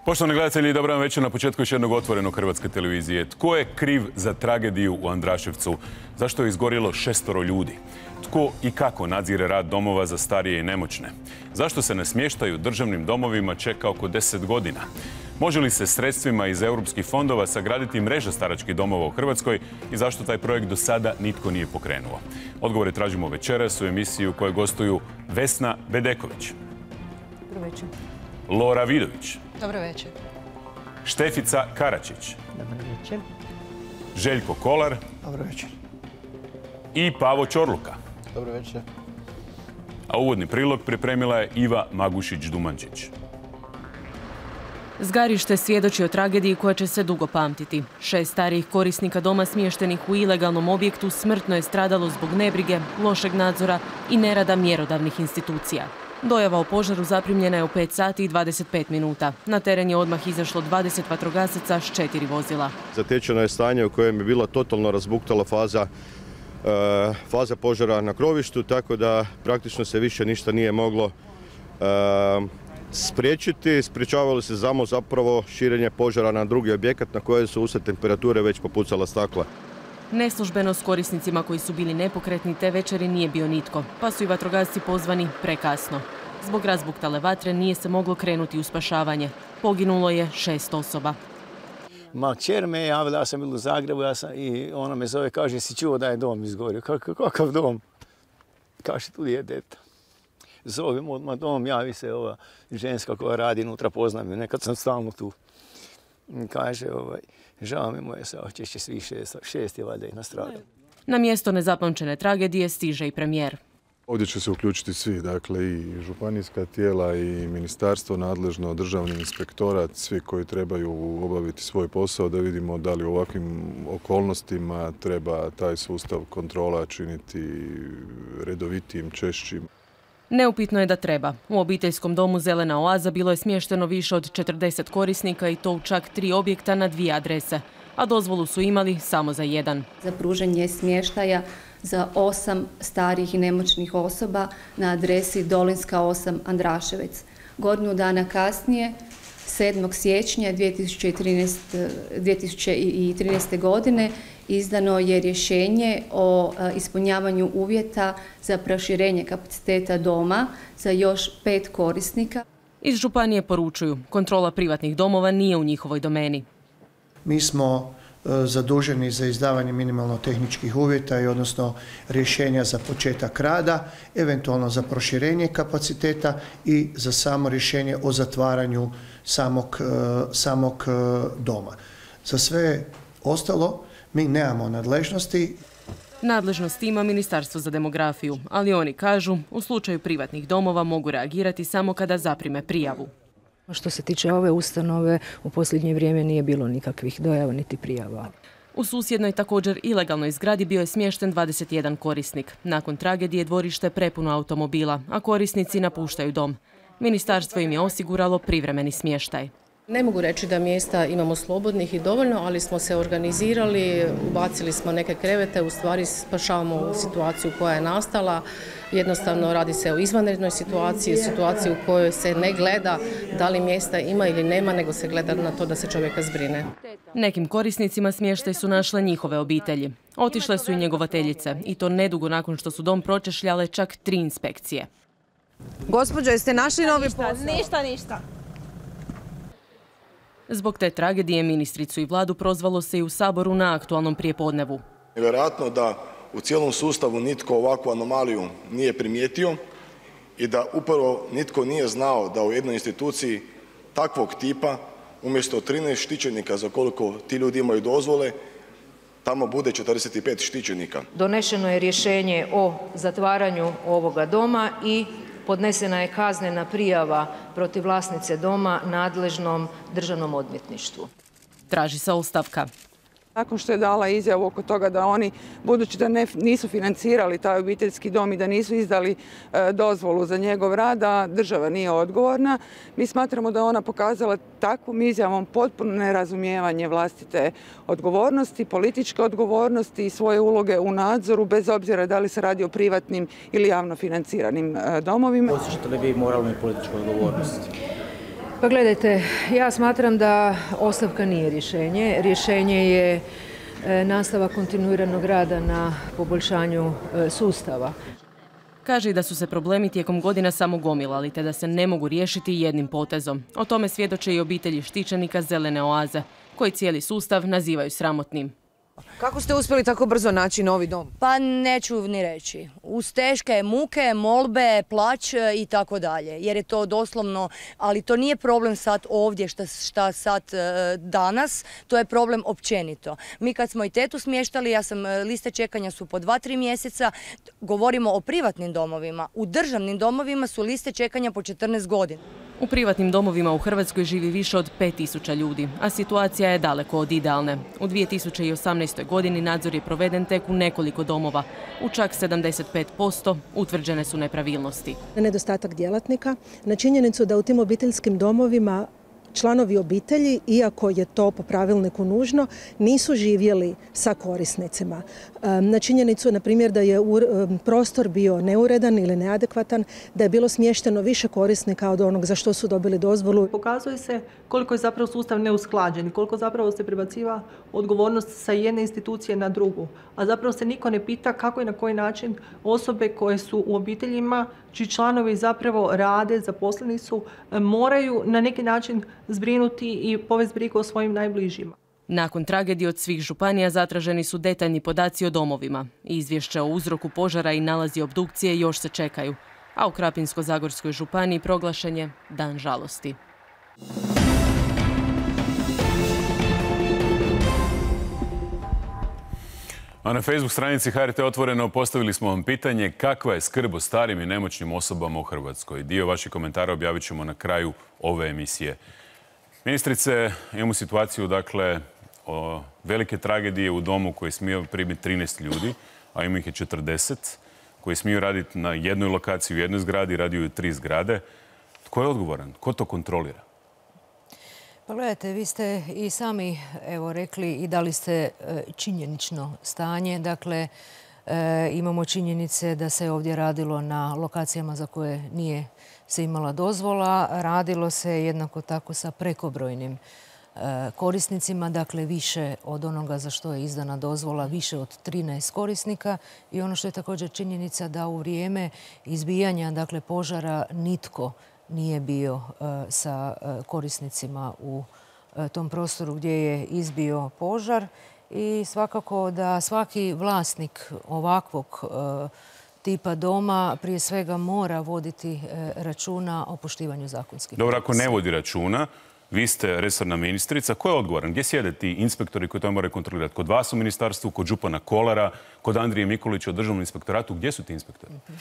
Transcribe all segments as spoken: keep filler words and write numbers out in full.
Poštovani gledatelji, dobro vam večer na početku još jednog otvorenog Hrvatske televizije. Tko je kriv za tragediju u Andraševcu? Zašto je izgorjelo šestoro ljudi? Tko i kako nadzire rad domova za starije i nemoćne? Zašto se na smještaju državnim domovima čeka oko deset godina? Može li se sredstvima iz europskih fondova sagraditi mreža staračkih domova u Hrvatskoj i zašto taj projekt do sada nitko nije pokrenuo? Odgovore tražimo večeras u emisiji u kojoj gostuju Vesna Bedeković. Dobro večer. Lora Vidović. Dobro večer. Štefica Karačić. Dobro večer. Željko Kolar. Dobro večer. I Pavo Čorluka. Dobro večer. A uvodni prilog pripremila je Iva Magušić-Dumančić. Zgarište svjedoči o tragediji koja će se dugo pamtiti. Šest starijih korisnika doma smještenih u ilegalnom objektu smrtno je stradalo zbog nebrige, lošeg nadzora i nerada mjerodavnih institucija. Dojava o požaru zaprimljena je u pet sati i dvadeset pet minuta. Na teren je odmah izašlo dvadeset vatrogasaca s četiri vozila. Zatečeno je stanje u kojem je bila totalno razbuktala faza, e, faza požara na krovištu, tako da praktično se više ništa nije moglo e, spriječiti. Spriječavalo se samo zapravo širenje požara na drugi objekat na koje su usred temperature već popucala stakla. Neslužbeno s korisnicima koji su bili nepokretni te večeri nije bio nitko, pa su i vatrogasci pozvani prekasno. Zbog razbuktale vatre nije se moglo krenuti u spašavanje. Poginulo je šest osoba. Ma kćer me je javila, ja sam bila u Zagrebu ja sam, i ona me zove, kaže, si čuo da je dom izgorio? Kakav, kakav dom? Kaže, tu je deta. Zovem odmah dom, javi se ova ženska koja radi unutra, poznam ju, nekad sam stalno tu. Kaže, ovaj, žao mi moje saočešće, svih šest, šest je valjda i nastradalo. Na mjesto nezapamćene tragedije stiže i premijer. Ovdje će se uključiti svi, dakle i županijska tijela i ministarstvo nadležno, državni inspektorat, svi koji trebaju obaviti svoj posao da vidimo da li u ovakvim okolnostima treba taj sustav kontrola činiti redovitijim, češćim. Neupitno je da treba. U obiteljskom domu Zelena oaza bilo je smješteno više od četrdeset korisnika i to u čak tri objekta na dvije adrese, a dozvolu su imali samo za jedan. Za pružanje smještaja za osam starih i nemoćnih osoba na adresi Dolinska osam Andraševec. Godinu dana kasnije, sedmog siječnja dvije tisuće trinaeste. godine, izdano je rješenje o ispunjavanju uvjeta za proširenje kapaciteta doma za još pet korisnika. Iz županije poručuju, kontrola privatnih domova nije u njihovoj domeni. Mi smo zaduženi za izdavanje minimalno tehničkih uvjeta i odnosno rješenja za početak rada, eventualno za proširenje kapaciteta i za samo rješenje o zatvaranju samog, samog doma. Za sve ostalo mi nemamo nadležnosti. Nadležnost ima Ministarstvo za demografiju, ali oni kažu u slučaju privatnih domova mogu reagirati samo kada zaprime prijavu. Što se tiče ove ustanove, u posljednje vrijeme nije bilo nikakvih dojava niti prijava. U susjednoj također ilegalnoj zgradi bio je smješten dvadeset jedan korisnik. Nakon tragedije dvorište je prepuno automobila, a korisnici napuštaju dom. Ministarstvo im je osiguralo privremeni smještaj. Ne mogu reći da mjesta imamo slobodnih i dovoljno, ali smo se organizirali, ubacili smo neke krevete, u stvari spašavamo situaciju koja je nastala. Jednostavno radi se o izvanrednoj situaciji, situaciji u kojoj se ne gleda da li mjesta ima ili nema, nego se gleda na to da se čovjeka zbrine. Nekim korisnicima smještaj su našle njihove obitelji. Otišle su i njegovateljice, i to nedugo nakon što su dom pročešljale čak tri inspekcije. Gospođo, jeste našli novi posao? Ništa, ništa. Zbog te tragedije ministricu i vladu prozvalo se i u Saboru na aktualnom prijepodnevu. Nevjerojatno da u cijelom sustavu nitko ovakvu anomaliju nije primijetio i da upravo nitko nije znao da u jednoj instituciji takvog tipa umjesto trinaest štićenika za koliko ti ljudi imaju dozvole, tamo bude četrdeset pet štićenika. Donešeno je rješenje o zatvaranju ovoga doma i podnesena je kaznena prijava protiv vlasnice doma nadležnom državnom odvjetništvu. Traži se ostavka. Nakon što je dala izjavu oko toga da oni, budući da ne, nisu financirali taj obiteljski dom i da nisu izdali e, dozvolu za njegov rad, a država nije odgovorna, mi smatramo da ona pokazala takvom izjavom potpuno nerazumijevanje vlastite odgovornosti, političke odgovornosti i svoje uloge u nadzoru, bez obzira da li se radi o privatnim ili javno financiranim e, domovima. Osjećate li vi moralnu i političku odgovornost? Pa gledajte, ja smatram da ostavka nije rješenje. Rješenje je nastavak kontinuiranog rada na poboljšanju sustava. Kaže i da su se problemi tijekom godina samo gomilali, te da se ne mogu riješiti jednim potezom. O tome svjedoče i obitelji štićenika Zelene oaze, koji cijeli sustav nazivaju sramotnim. Kako ste uspjeli tako brzo naći novi dom? Pa neću ni reći. Uz teške muke, molbe, plać i tako dalje. Jer je to doslovno, ali to nije problem sad ovdje šta, šta sad danas, to je problem općenito. Mi kad smo i tetu smještali, ja sam, liste čekanja su po dva, tri mjeseca, govorimo o privatnim domovima. U državnim domovima su liste čekanja po četrnaest godina. U privatnim domovima u Hrvatskoj živi više od pet tisuća ljudi, a situacija je daleko od idealne. U dvije tisuće osamnaestoj godini nadzor je proveden tek u nekoliko domova. U čak sedamdeset pet posto utvrđene su nepravilnosti. Nedostatak djelatnika, na činjenicu da u tim obiteljskim domovima članovi obitelji, iako je to po pravilniku nužno, nisu živjeli sa korisnicima. Na činjenicu, na primjer, da je prostor bio neuredan ili neadekvatan, da je bilo smješteno više korisnika od onog za što su dobili dozvolu. Pokazuje se koliko je zapravo sustav neusklađen i koliko zapravo se prebaciva odgovornost sa jedne institucije na drugu. A zapravo se niko ne pita kako i na koji način osobe koje su u obiteljima, čiji članovi zapravo rade, zaposleni su, moraju na neki način zbrinuti i povesti brigu o svojim najbližima. Nakon tragedije od svih županija zatraženi su detaljni podaci o domovima. Izvješća o uzroku požara i nalazi obdukcije još se čekaju. A u Krapinsko-zagorskoj županiji proglašen je dan žalosti. A na Facebook stranici H R T Otvoreno postavili smo vam pitanje kakva je skrb o starim i nemoćnim osobama u Hrvatskoj. Dio vaših komentara objavit ćemo na kraju ove emisije. Ministrice, imamo situaciju, dakle, o velike tragedije u domu koji smije primiti trinaest ljudi, a ima ih je četrdeset, koji smiju raditi na jednoj lokaciji u jednoj zgradi, radio u tri zgrade. Tko je odgovoran? Ko to kontrolira? Pa gledajte, vi ste i sami evo, rekli i dali ste činjenično stanje. Dakle, e, imamo činjenice da se ovdje radilo na lokacijama za koje nije se imala dozvola. Radilo se jednako tako sa prekobrojnim e, korisnicima, dakle više od onoga za što je izdana dozvola, više od trinaest korisnika. I ono što je također činjenica da u vrijeme izbijanja dakle, požara nitko nije bio uh, sa uh, korisnicima u uh, tom prostoru gdje je izbio požar i svakako da svaki vlasnik ovakvog uh, tipa doma prije svega mora voditi uh, računa o poštivanju zakonskih. Dobro, ako ne vodi računa, vi ste resorna ministrica. Ko je odgovoran? Gdje sjede ti inspektori koji to moraju kontrolirati? Kod vas u ministarstvu, kod župana Kolara, kod Andrije Mikulića u državnom inspektoratu? Gdje su ti inspektori? Uh-huh.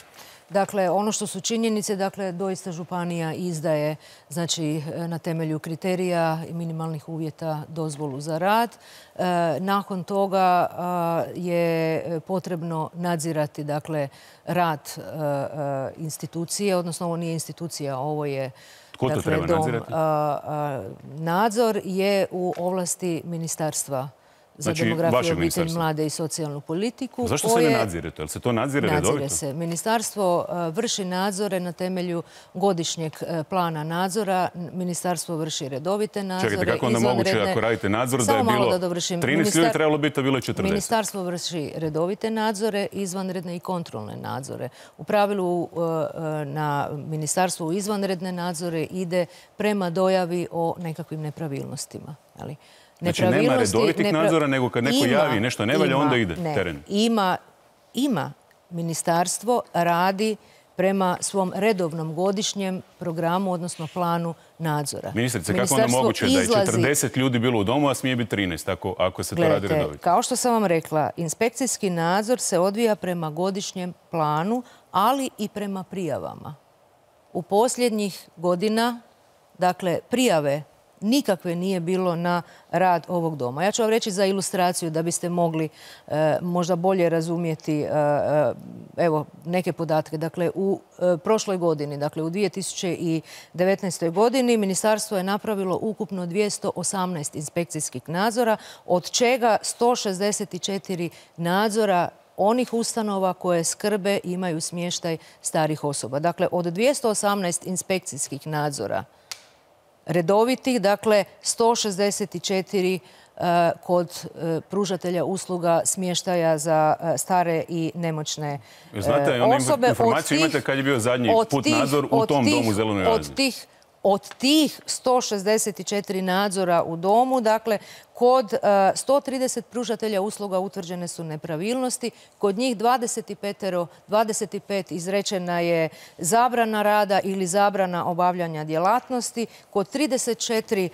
Dakle, ono što su činjenice, dakle, doista županija izdaje, znači, na temelju kriterija i minimalnih uvjeta dozvolu za rad. E, nakon toga a, je potrebno nadzirati, dakle, rad a, institucije, odnosno ovo nije institucija, ovo je Tko to dakle, treba dom. nadzirati? A, a, nadzor je u ovlasti ministarstva za znači, demografiju, obitelj, mlade i socijalnu politiku. Zašto se ne nadzire to? Jel se to nadzire redovito? Nadzire se. Ministarstvo vrši nadzore na temelju godišnjeg plana nadzora. Ministarstvo vrši redovite nadzore. Čekajte, kako onda moguće ako radite nadzor da je bilo trinaest ljudi trebalo biti, a bilo je četrdeset? Ministarstvo vrši redovite nadzore, izvanredne i kontrolne nadzore. U pravilu na ministarstvo izvanredne nadzore ide prema dojavi o nekakvim nepravilnostima. Ali znači nema redovitih nepra... nadzora, nego kad neko ima, javi nešto ne valja, onda ide ne, teren. Ima, ima. Ministarstvo radi prema svom redovnom godišnjem programu, odnosno planu nadzora. Ministrice, kako onda moguće izlazi... da je četrdeset ljudi bilo u domu, a smije biti trinaest, ako, ako se Gledajte, to radi redovito? Kao što sam vam rekla, inspekcijski nadzor se odvija prema godišnjem planu, ali i prema prijavama. U posljednjih godina, dakle, prijave nikakve nije bilo na rad ovog doma. Ja ću vam reći za ilustraciju da biste mogli e, možda bolje razumjeti e, evo, neke podatke. Dakle, u e, prošloj godini, dakle u dvije tisuće devetnaestoj godini, ministarstvo je napravilo ukupno dvjesto osamnaest inspekcijskih nadzora, od čega sto šezdeset četiri nadzora onih ustanova koje skrbe i imaju smještaj starih osoba. Dakle, od dvjesto osamnaest inspekcijskih nadzora redovitih, dakle sto šezdeset četiri kod pružatelja usluga smještaja za stare i nemoćne osobe. Znate, one informacije imate kad je bio zadnji put nadzor u tom domu u Zelenoj Aziji. Od tih sto šezdeset četiri nadzora u domu, dakle, kod sto trideset pružatelja usluga utvrđene su nepravilnosti, kod njih dvadeset pet izrečena je zabrana rada ili zabrana obavljanja djelatnosti, kod trideset četiri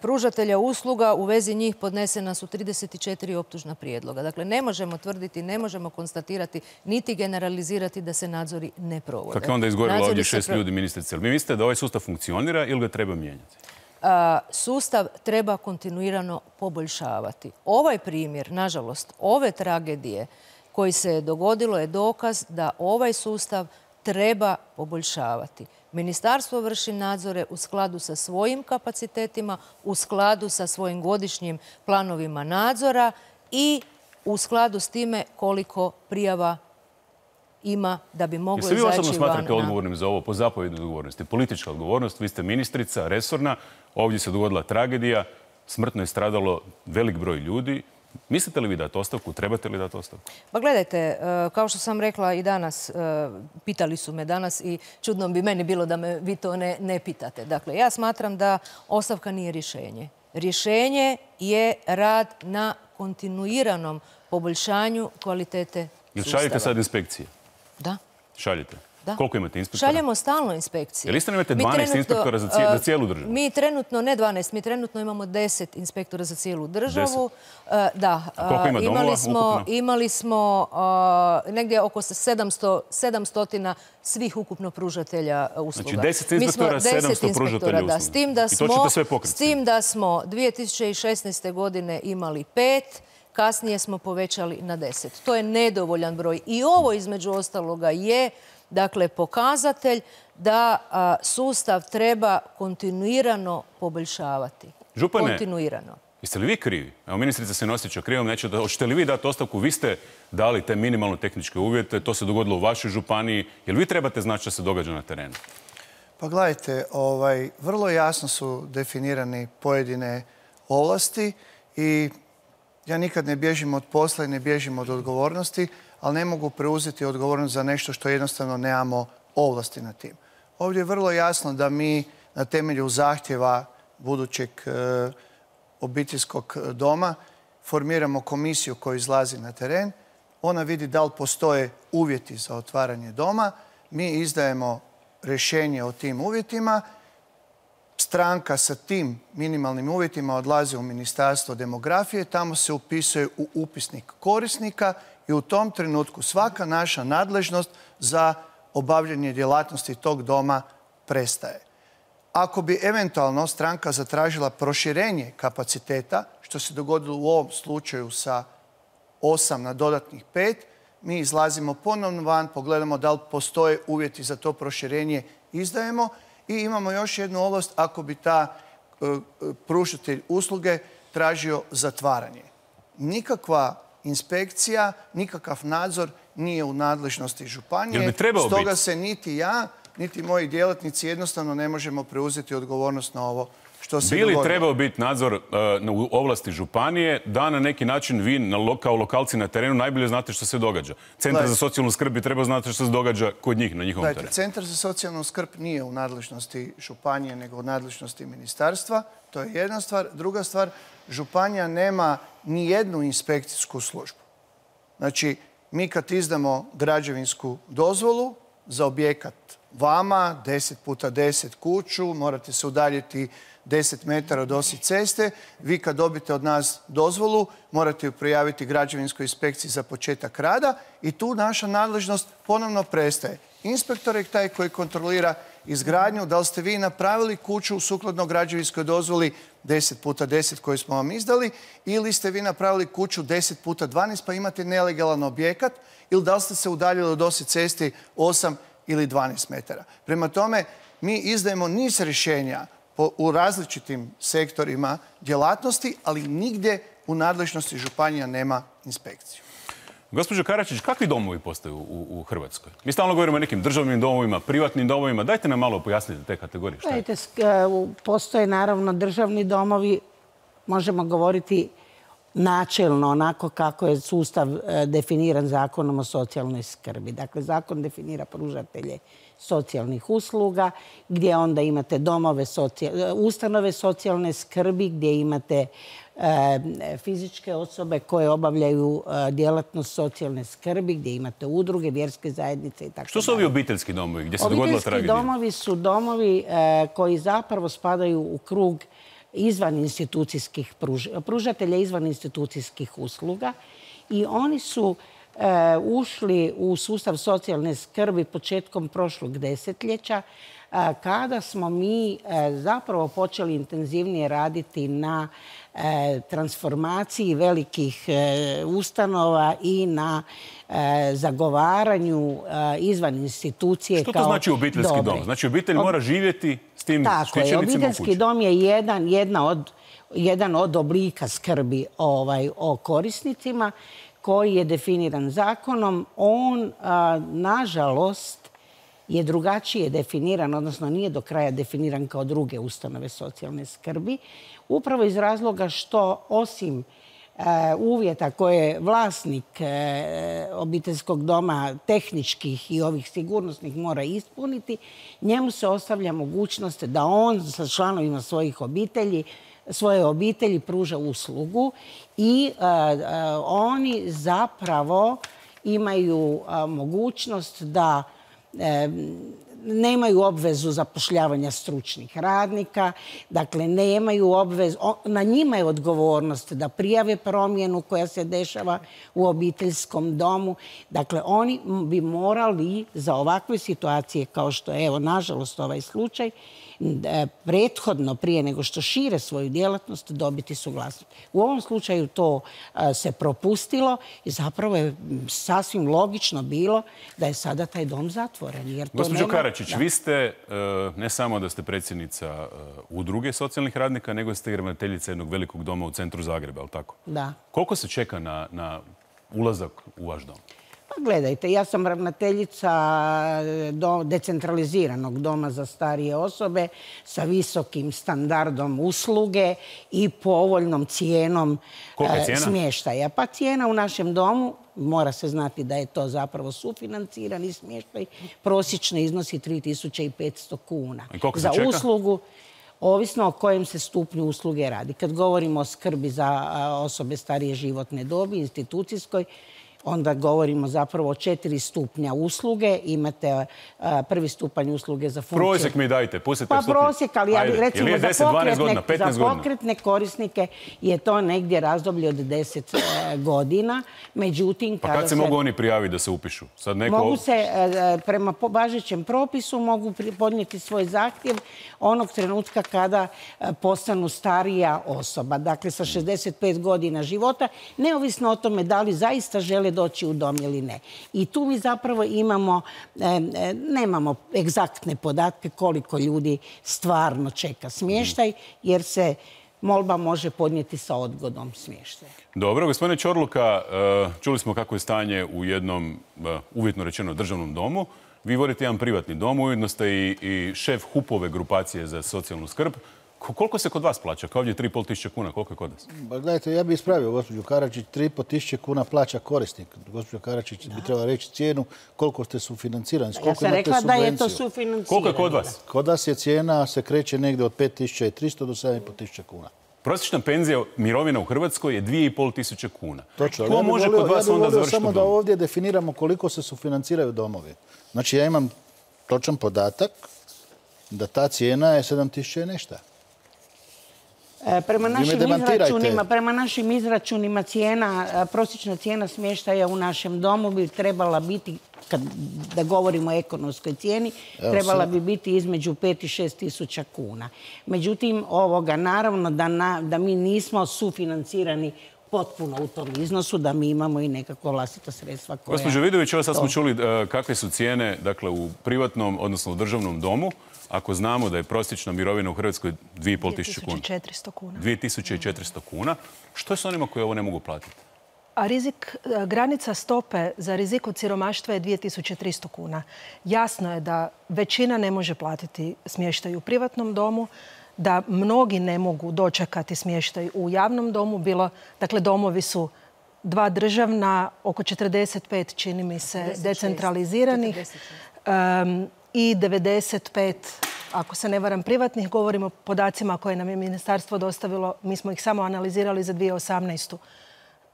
pružatelja usluga u vezi njih podnesena su trideset četiri optužna prijedloga. Dakle, ne možemo tvrditi, ne možemo konstatirati, niti generalizirati da se nadzori ne provode. Kako je onda izgorilo ovdje šest ljudi, ministrice? Vi mislite da ovaj sustav funkcionira ili ga treba mijenjati? Sustav treba kontinuirano poboljšavati. Ovaj primjer, nažalost, ove tragedije koji se je dogodilo je dokaz da ovaj sustav treba poboljšavati. Ministarstvo vrši nadzore u skladu sa svojim kapacitetima, u skladu sa svojim godišnjim planovima nadzora i u skladu s time koliko prijava ima da bi moglo izaći van. Jeste vi osobno smatrate odgovornim za ovo po zapovjednoj odgovornosti? Politička odgovornost, vi ste ministrica, resorna, ovdje se dogodila tragedija, smrtno je stradalo velik broj ljudi. Mislite li vi dati ostavku? Trebate li dati ostavku? Pa gledajte, kao što sam rekla i danas, pitali su me danas i čudno bi meni bilo da me vi to ne, ne pitate. Dakle, ja smatram da ostavka nije rješenje. Rješenje je rad na kontinuiranom poboljšanju kvalitete Jel sustava. šaljete sad inspekcije? Da. Šaljete? Da. Koliko imate inspektora? Šaljemo stalno inspekcije. Jel isto imate dvanaest inspektora za, cijel, za cijelu državu? Mi trenutno, ne dvanaest, mi trenutno imamo deset inspektora za cijelu državu. deset? Da. A koliko ima domova imali smo, ukupno? Imali smo uh, negdje oko sedamsto, sedamsto svih ukupno pružatelja usluga. Znači deset inspektora, sedamsto pružatelja usluga. Da, s tim da smo, I to ćete sve pokriti? S tim da smo dvije tisuće šesnaeste. godine imali pet, kasnije smo povećali na deset. To je nedovoljan broj. I ovo između ostaloga je dakle pokazatelj da a, sustav treba kontinuirano poboljšavati. Župane, kontinuirano. Jeste li vi krivi? Evo, ministrica se nosjeća krivom, neće da, hoćete li vi dati ostavku? Vi ste dali te minimalno tehničke uvjete, to se dogodilo u vašoj županiji. Jel vi trebate znati što se događa na terenu? Pa gledajte, ovaj, vrlo jasno su definirane pojedine ovlasti i ja nikad ne bježim od posla i ne bježim od odgovornosti, ali ne mogu preuzeti odgovornost za nešto što jednostavno nemamo ovlasti na tim. Ovdje je vrlo jasno da mi na temelju zahtjeva budućeg e, obiteljskog doma formiramo komisiju koja izlazi na teren. Ona vidi da li postoje uvjeti za otvaranje doma. Mi izdajemo rješenje o tim uvjetima. Stranka sa tim minimalnim uvjetima odlazi u Ministarstvo demografije. Tamo se upisuje u upisnik korisnika i u tom trenutku svaka naša nadležnost za obavljanje djelatnosti tog doma prestaje. Ako bi eventualno stranka zatražila proširenje kapaciteta, što se dogodilo u ovom slučaju sa osam na dodatnih pet, mi izlazimo ponovno van, pogledamo da li postoje uvjeti za to proširenje, izdajemo i imamo još jednu ovlast ako bi ta uh, pružatelj usluge tražio zatvaranje. Nikakva inspekcija, nikakav nadzor nije u nadležnosti županije. Stoga se niti ja, niti moji djelatnici jednostavno ne možemo preuzeti odgovornost na ovo što se dogodilo. Bi li trebao biti nadzor uh, u ovlasti županije da na neki način vi na lo, kao lokalci na terenu najbolje znate što se događa? Centar Lajte. za socijalnu skrb bi trebao znati što se događa kod njih na njihovom Lajte, terenu. Centar za socijalnu skrb nije u nadležnosti županije nego u nadležnosti ministarstva. To je jedna stvar. Druga stvar, županija nema ni jednu inspekcijsku službu. Znači, mi kad izdamo građevinsku dozvolu za objekat vama, deset puta deset kuću, morate se udaljiti deset metara od osi ceste. Vi kad dobite od nas dozvolu, morate ju prijaviti građevinskoj inspekciji za početak rada i tu naša nadležnost ponovno prestaje. Inspektor je taj koji kontrolira izgradnju, da li ste vi napravili kuću sukladno građevinskoj dozvoli deset puta deset koju smo vam izdali ili ste vi napravili kuću deset puta dvanaest pa imate nelegalan objekat ili da li ste se udaljili od osi cesti osam ili dvanaest metara. Prema tome, mi izdajemo niz rješenja u različitim sektorima djelatnosti, ali nigdje u nadležnosti županija nema inspekciju. Gospođo Karačić, kakvi domovi postaju u, u Hrvatskoj? Mi stalno govorimo o nekim državnim domovima, privatnim domovima. Dajte nam malo pojasniti te kategorije. Šta je? Dajte, postoje naravno državni domovi, možemo govoriti načelno, onako kako je sustav definiran Zakonom o socijalnoj skrbi. Dakle, zakon definira pružatelje socijalnih usluga, gdje onda imate domove, ustanove socijalne skrbi, gdje imate fizičke osobe koje obavljaju djelatnost socijalne skrbi, gdje imate udruge, vjerske zajednice i tako. Što su ovi obiteljski domovi gdje se dogodila tragedija? Obiteljski domovi su domovi koji zapravo spadaju u krug izvan institucijskih pružatelja izvan institucijskih usluga i oni su ušli u sustav socijalne skrbi početkom prošlog desetljeća kada smo mi zapravo počeli intenzivnije raditi na transformaciji velikih ustanova i na zagovaranju izvan institucije. Što to znači obiteljski dom? Znači obitelj mora živjeti s tim štićenicima u kući? Obiteljski dom je jedan, jedna od, jedan od oblika skrbi ovaj, o korisnicima koji je definiran zakonom. On, a, nažalost, je drugačije definiran, odnosno nije do kraja definiran kao druge ustanove socijalne skrbi, upravo iz razloga što osim e, uvjeta koje vlasnik e, obiteljskog doma tehničkih i ovih sigurnosnih mora ispuniti, njemu se ostavlja mogućnost da on sa članovima svojih obitelji svoje obitelji pruža uslugu i e, e, oni zapravo imaju a, mogućnost da e, nemaju obvezu zapošljavanja stručnih radnika, dakle nemaju obvezu, na njima je odgovornost da prijave promjenu koja se dešava u obiteljskom domu. Dakle, oni bi morali za ovakve situacije kao što je, evo, nažalost, ovaj slučaj, prethodno, prije nego što šire svoju djelatnost, dobiti suglasnost. U ovom slučaju to se propustilo i zapravo je sasvim logično bilo da je sada taj dom zatvoren. Gospođo Karačić, vi ste, ne samo da ste predsjednica udruge socijalnih radnika, nego ste i ravnateljica jednog velikog doma u centru Zagreba, je li tako? Da. Koliko se čeka na, na ulazak u vaš dom? Gledajte, ja sam ravnateljica do, decentraliziranog doma za starije osobe sa visokim standardom usluge i povoljnom cijenom e, smještaja. Pa cijena u našem domu, mora se znati da je to zapravo sufinancirani smještaj, prosječno iznosi tri tisuće petsto kuna. Za čeka? uslugu, ovisno o kojem se stupnju usluge radi. Kad govorimo o skrbi za osobe starije životne dobi, institucijskoj, onda govorimo zapravo o četiri stupnja usluge. Imate a, prvi stupanj usluge za funkciju. Prosjek mi dajte, pustite pa stupnje. prosjek, ali ja recimo je deset, za, pokretne, godina, za pokretne korisnike je to negdje razdoblje od deset e, godina. Međutim, pa kad se, se mogu oni prijaviti da se upišu? Sad neko... Mogu se, e, prema važećem propisu, mogu podnijeti svoj zahtjev onog trenutka kada e, postanu starija osoba. Dakle, sa šezdeset pet godina života, neovisno o tome da li zaista žele doći u dom ili ne. I tu mi zapravo imamo, e, nemamo egzaktne podatke koliko ljudi stvarno čeka smještaj, jer se molba može podnijeti sa odgodom smještaja. Dobro, gospodine Čorluka, čuli smo kako je stanje u jednom, uvjetno rečeno, državnom domu. Vi vodite jedan privatni dom, ujedno ste i, i šef HUP-ove grupacije za socijalnu skrb. Koliko se kod vas plaća? Kao ovdje tri i pol tisuće kuna, koliko je kod vas? Ba, gledajte, ja bih ispravio gospođu Karačić, tri i pol tisuće kuna plaća korisnik. Gospođa Karačić da. bi trebala reći cijenu koliko ste sufinancirani. Ja sam rekla da je to sufinancirano. Koliko je kod vas? Kod vas je cijena, se kreće negdje od pet tisuća tristo do sedam i pol tisuća kuna. Prosječna penzija mirovina u Hrvatskoj je dvije i pol tisuće kuna. Točno. Ko ja može volio, kod vas ja onda završiti samo da ovdje definiramo koliko se sufinanciraju domovi. Znači ja imam točan podatak da ta cijena je sedam tisuća i nešto. Prema našim, izračunima, prema našim izračunima cijena, prosječna cijena smještaja u našem domu bi trebala biti, kad da govorimo o ekonomskoj cijeni, Evo trebala se. bi biti između pet i šest tisuća kuna. Međutim, ovoga, naravno da, na, da mi nismo sufinancirani potpuno u tom iznosu, da mi imamo i nekako vlastita sredstva koja... Gospođo Vidović, ovo sad smo čuli kakve su cijene, dakle, u privatnom, odnosno u državnom domu. Ako znamo da je prosječna mirovina u Hrvatskoj dvije i pol tisuće kuna. dvije tisuće četiristo kuna. dvije tisuće četiristo kuna. Što je s onima koji ovo ne mogu platiti? A rizik, granica stope za rizik od siromaštva je dvije tisuće tristo kuna. Jasno je da većina ne može platiti smještaj u privatnom domu, da mnogi ne mogu dočekati smještaj u javnom domu. Bilo, dakle, domovi su dva državna, oko četrdeset pet, čini mi se, decentraliziranih um, i devedeset pet, ako se ne varam, privatnih. Govorimo o podacima koje nam je ministarstvo dostavilo. Mi smo ih samo analizirali za dvije tisuće osamnaestu.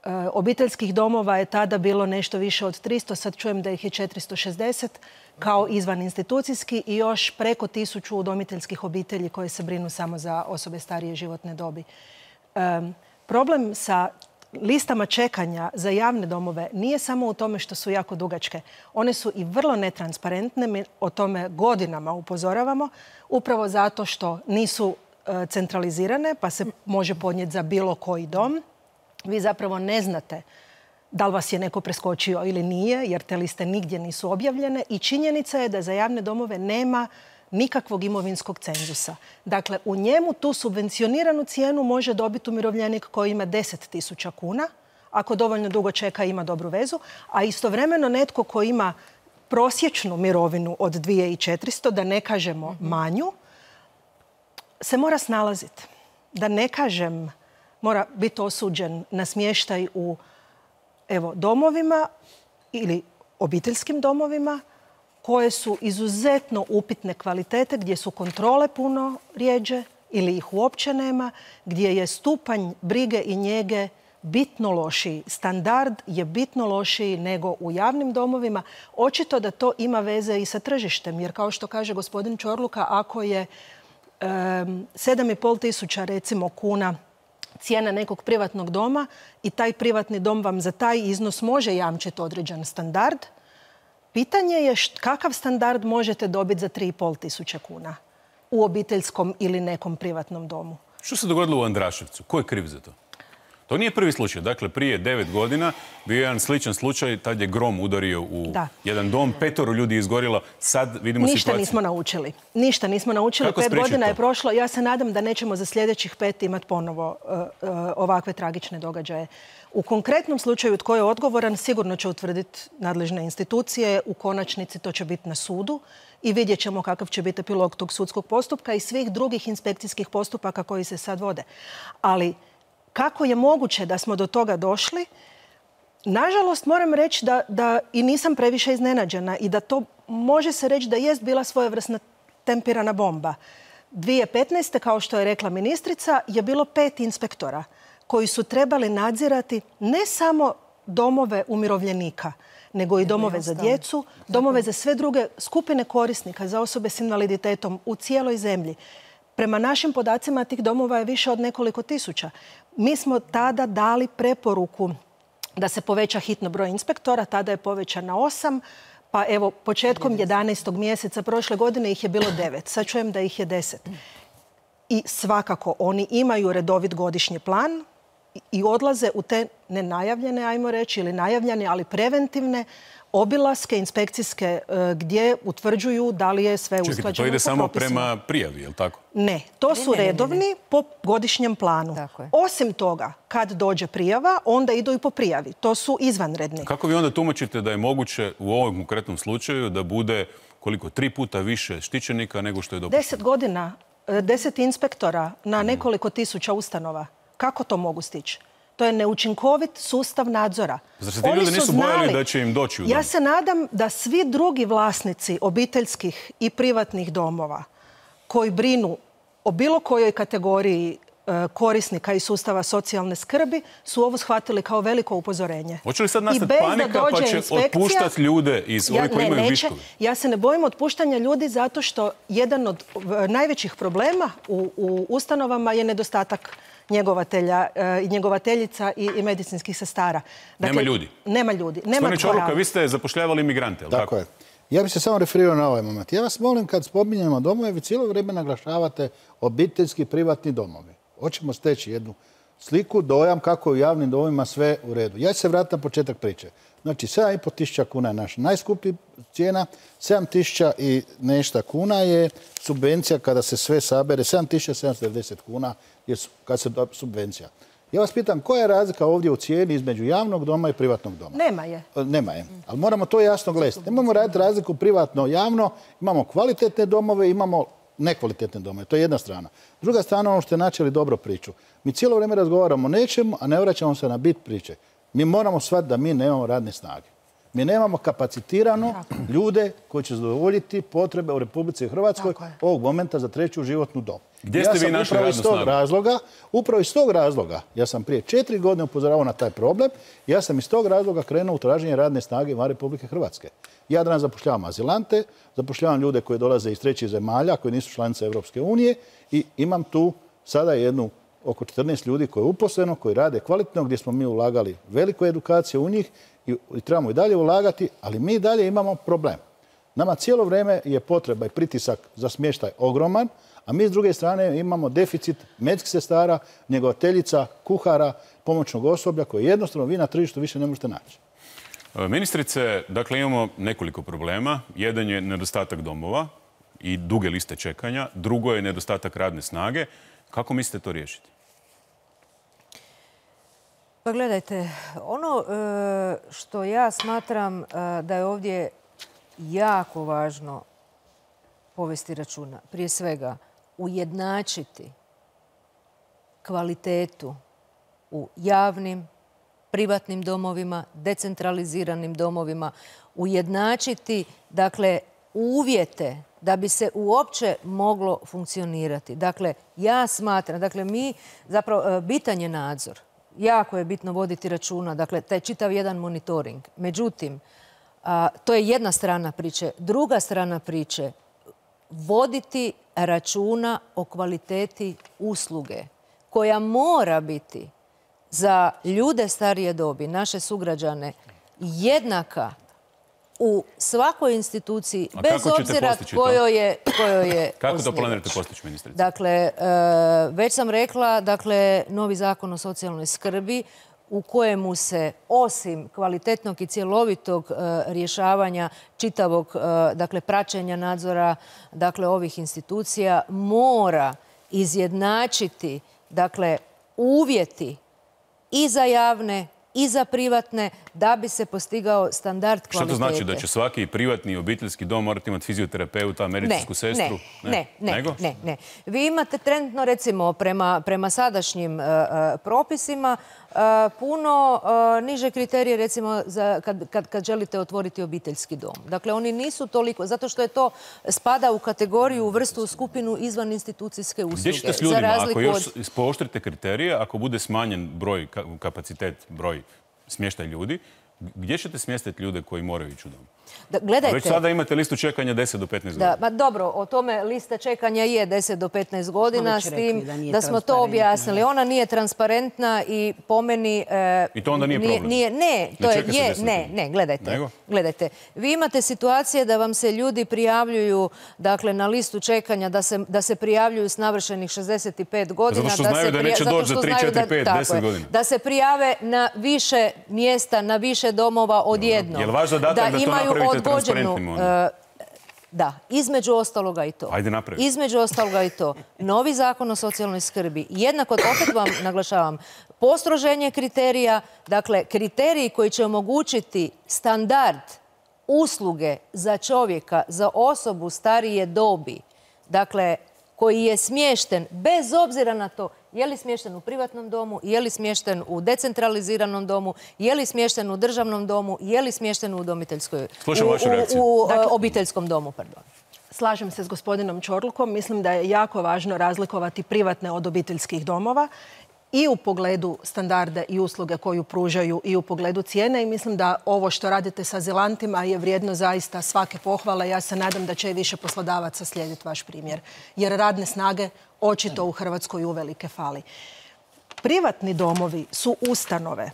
Uh, obiteljskih domova je tada bilo nešto više od tristo, sad čujem da ih je četiristo šezdeset kao izvan institucijski i još preko tisuću udomiteljskih obitelji koje se brinu samo za osobe starije životne dobi. Um, problem sa listama čekanja za javne domove nije samo u tome što su jako dugačke. One su i vrlo netransparentne. Mi o tome godinama upozoravamo, upravo zato što nisu uh, centralizirane, pa se može podnijeti za bilo koji dom. Vi zapravo ne znate da li vas je neko preskočio ili nije, jer te liste nigdje nisu objavljene. I činjenica je da za javne domove nema nikakvog imovinskog cenzusa. Dakle, u njemu tu subvencioniranu cijenu može dobiti umirovljenik koji ima deset tisuća kuna, ako dovoljno dugo čeka i ima dobru vezu, a istovremeno netko koji ima prosječnu mirovinu od dvije tisuće četiristo, da ne kažemo manju, se mora snalaziti. Da ne kažem, mora biti osuđen na smještaj u evo, domovima ili obiteljskim domovima koje su izuzetno upitne kvalitete, gdje su kontrole puno rjeđe ili ih uopće nema, gdje je stupanj brige i njege bitno lošiji. Standard je bitno lošiji nego u javnim domovima. Očito da to ima veze i sa tržištem, jer kao što kaže gospodin Čorluka, ako je um, sedam i pol tisuća recimo kuna cijena nekog privatnog doma i taj privatni dom vam za taj iznos može jamčiti određen standard, pitanje je kakav standard možete dobiti za tri i pol tisuće kuna u obiteljskom ili nekom privatnom domu. Što se dogodilo u Andraševcu? Ko je kriv za to? To nije prvi slučaj. Dakle, prije devet godina bio je jedan sličan slučaj. Tad je grom udario u da. jedan dom. Petoro ljudi izgorilo. Sad vidimo Ništa situaciju. nismo naučili. Ništa nismo naučili. Kako Pet godina to? je prošlo. Ja se nadam da nećemo za sljedećih pet imati ponovo uh, uh, ovakve tragične događaje. U konkretnom slučaju tko je odgovoran sigurno će utvrditi nadležne institucije. U konačnici to će biti na sudu i vidjet ćemo kakav će biti epilog tog sudskog postupka i svih drugih inspekcijskih postupaka koji se sad vode. Ali kako je moguće da smo do toga došli? Nažalost, moram reći da, da i nisam previše iznenađena i da to može se reći da jest bila svojevrsna tempirana bomba. dvije tisuće petnaeste. kao što je rekla ministrica, je bilo pet inspektora koji su trebali nadzirati ne samo domove umirovljenika, nego i domove za djecu, domove za sve druge skupine korisnika, za osobe s invaliditetom u cijeloj zemlji. Prema našim podacima tih domova je više od nekoliko tisuća. Mi smo tada dali preporuku da se poveća hitno broj inspektora, tada je povećan na osam, pa evo početkom jedanaestog mjeseca prošle godine ih je bilo devet. Sad čujem da ih je deset. I svakako oni imaju redovit godišnji plan i odlaze u te nenajavljene, ajmo reći, ili najavljene, ali preventivne obilaske inspekcijske gdje utvrđuju da li je sve usklađeno. Čekajte, to ide samo prema prijavi, je li tako? Ne, to su redovni po godišnjem planu. Osim toga, kad dođe prijava, onda idu i po prijavi. To su izvanredni. Kako vi onda tumačite da je moguće u ovom konkretnom slučaju da bude koliko, tri puta više štićenika nego što je dopušteno? Deset godina, deset inspektora na nekoliko tisuća ustanova. Kako to mogu stići? To je neučinkovit sustav nadzora. Zar se ti ljudi nisu bojali da će im doći u dom? Ja se nadam da svi drugi vlasnici obiteljskih i privatnih domova koji brinu o bilo kojoj kategoriji korisnika i sustava socijalne skrbi su ovo shvatili kao veliko upozorenje. Hoće li sad nastati panika pa će otpuštati ljude iz ovih koji imaju viškovi? Ja se ne bojim otpuštanja ljudi zato što jedan od najvećih problema u, u ustanovama je nedostatak njegovatelja i njegovateljica i, i medicinskih sestara. Dakle, nema ljudi. Nema ljudi. Nema Gospodine Čorluka, vi ste zapošljavali imigrante, je li tako? Tako je. Ja bih se samo referirao na ovaj moment. Ja vas molim, kad spominjemo domove, vi cijelo vrijeme naglašavate obiteljski privatni domovi. Hoćemo steći jednu sliku, dojam kako je u javnim domovima sve u redu. Ja ću se vratiti na početak priče. Znači, sedam i pol tisuća kuna je naša najskuplji cijena, sedam tisuća i nešto kuna je subvencija kada se sve sabere, sedam tisuća sedamsto devedeset kuna je kad se da subvencija. Ja vas pitam, koja je razlika ovdje u cijeni između javnog doma i privatnog doma? Nema je. Nema je, ali moramo to jasno gledati. Nemojmo raditi razliku privatno-javno, imamo kvalitetne domove, imamo nekvalitetne domove. To je jedna strana. Druga strana, ono što ste načeli dobro priču. Mi cijelo vrijeme razgovaramo o nečemu, a ne vraćamo se na bit priče. Mi moramo shvatiti da mi nemamo radne snage. Mi nemamo kapacitirano ljude koji će zadovoljiti potrebe u Republici Hrvatskoj ovog momenta za treću životnu dobu. Gdje ste vi našli radnu snagu? Razloga, upravo iz tog razloga, ja sam prije četiri godine upozoravao na taj problem, ja sam iz tog razloga krenuo u traženje radne snage van Republike Hrvatske. Ja danas zapošljavam azilante, zapošljavam ljude koji dolaze iz trećih zemalja, koji nisu članice Europske unije i imam tu sada jednu oko četrnaest ljudi koji je uposleno, koji rade kvalitetno, gdje smo mi ulagali veliku edukaciju u njih i trebamo i dalje ulagati, ali mi dalje imamo problem. Nama cijelo vrijeme je potreba i pritisak za smještaj ogroman, a mi s druge strane imamo deficit medicinskih sestara, njegovateljica, kuhara, pomoćnog osoblja koje jednostavno vi na tržištu više ne možete naći. Ministrice, dakle imamo nekoliko problema. Jedan je nedostatak domova i duge liste čekanja. Drugo je nedostatak radne snage. Kako mislite to riješiti? Pa gledajte, ono što ja smatram da je ovdje jako važno povesti računa, prije svega ujednačiti kvalitetu u javnim, privatnim domovima, decentraliziranim domovima, ujednačiti, dakle, uvjete da bi se uopće moglo funkcionirati. Dakle, ja smatram, dakle, mi, zapravo, bitan je nadzor. Jako je bitno voditi računa, dakle, taj čitav jedan monitoring. Međutim, to je jedna strana priče. Druga strana priče, voditi računa o kvaliteti usluge koja mora biti za ljude starije dobi, naše sugrađane, jednaka u svakoj instituciji, bez obzira kojoj je osnivač. Kako to planirate postići, ministrice? Dakle, već sam rekla, dakle, novi zakon o socijalnoj skrbi u kojemu se osim kvalitetnog i cjelovitog rješavanja čitavog, dakle, praćenja nadzora, dakle, ovih institucija mora izjednačiti, dakle, uvjeti i za javne i za privatne, da bi se postigao standard kvalitete. Što to znači? Da će svaki privatni i obiteljski dom morati imati fizioterapeuta, medicinsku sestru? Ne, ne, ne, ne. Vi imate trenutno, recimo, prema sadašnjim propisima, puno niže kriterije, recimo, kad želite otvoriti obiteljski dom. Dakle, oni nisu toliko, zato što je to spada u kategoriju, u vrstu, u skupinu izvan institucijske usluge. Gdje ćete s ljudima, ako još pooštrite kriterije, ako bude smanjen broj, kapacitet, broj smještaj ljudi, gdje ćete smjestiti ljude koji moraju ići u dom? Gledajte. Već sada imate listu čekanja deset do petnaest godina. Da, dobro, o tome lista čekanja je deset do petnaest godina, s tim da smo to objasnili. Ona nije transparentna i po meni... I to onda nije problem? Ne, to je... Ne, ne, gledajte. Gledajte. Vi imate situacije da vam se ljudi prijavljuju, dakle, na listu čekanja, da se prijavljuju s navršenih šezdeset pet godina. Zato što znaju da neće doći za tri, četiri, pet, deset godina. Da se prijave na više mjesta, na više domova odjednom. Je li vaš zadatak da to napravite transparentnim? Da, između ostaloga i to. Ajde napraviti. Između ostaloga i to. Novi zakon o socijalnoj skrbi. Jednako, opet vam naglašavam, postroženje kriterija, dakle, kriteriji koji će omogućiti standard usluge za čovjeka, za osobu starije dobi, dakle, koji je smješten, bez obzira na to je li smješten u privatnom domu, je li smješten u decentraliziranom domu, je li smješten u državnom domu, je li smješten u udomiteljskoj... Slušam vašu reakciju. U obiteljskom domu, pardon. Slažem se s gospodinom Ćorlukom. Mislim da je jako važno razlikovati privatne od obiteljskih domova i u pogledu standarda i usluge koju pružaju i u pogledu cijene. I mislim da ovo što radite sa azilantima je vrijedno zaista svake pohvale. Ja se nadam da će i više poslodavaca slijediti vaš primjer. Jer radne snage očito u Hrvatskoj uvelike fali. Privatni domovi su ustanove.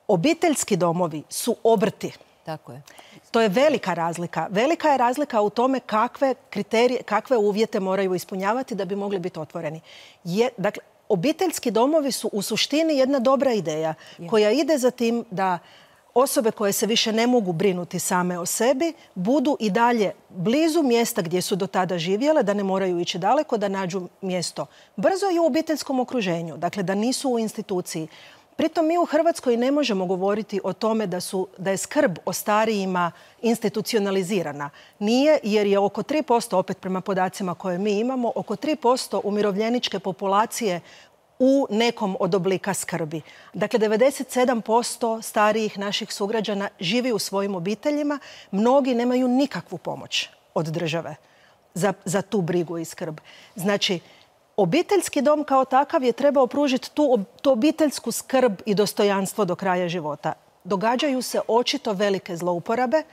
Obiteljski domovi su obrti. Tako je. To je velika razlika. Velika je razlika u tome kakve kriterije, kakve uvjete moraju ispunjavati da bi mogli biti otvoreni. Dakle, obiteljski domovi su u suštini jedna dobra ideja koja ide za tim da osobe koje se više ne mogu brinuti same o sebi budu i dalje blizu mjesta gdje su do tada živjele, da ne moraju ići daleko, da nađu mjesto brzo i u obiteljskom okruženju, dakle da nisu u instituciji. Pritom mi u Hrvatskoj ne možemo govoriti o tome da, su, da je skrb o starijima institucionalizirana. Nije, jer je oko tri posto, opet prema podacima koje mi imamo, oko tri posto umirovljeničke populacije u nekom od oblika skrbi. Dakle, devedeset sedam posto starijih naših sugrađana živi u svojim obiteljima. Mnogi nemaju nikakvu pomoć od države za, za tu brigu i skrb. Znači, obiteljski dom kao takav je trebao pružiti tu, tu obiteljsku skrb i dostojanstvo do kraja života. Događaju se očito velike zlouporabe.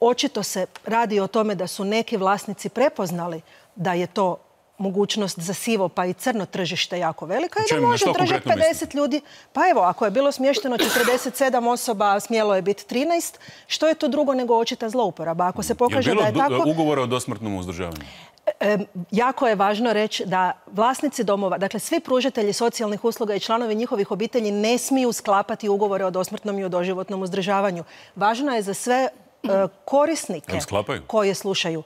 Očito se radi o tome da su neki vlasnici prepoznali da je to mogućnost za sivo pa i crno tržište jako velika i da može držati pedeset ljudi. Pa evo, ako je bilo smješteno četrdeset sedam osoba, a smjelo je biti trinaest, što je to drugo nego očita zlouporaba? Ako se pokaže da je tako... Je bilo ugovora o dosmrtnom uzdržavanju? E, jako je važno reći da vlasnici domova, dakle svi pružatelji socijalnih usluga i članovi njihovih obitelji ne smiju sklapati ugovore o dosmrtnom i o doživotnom uzdržavanju. Važno je za sve e, korisnike koje slušaju.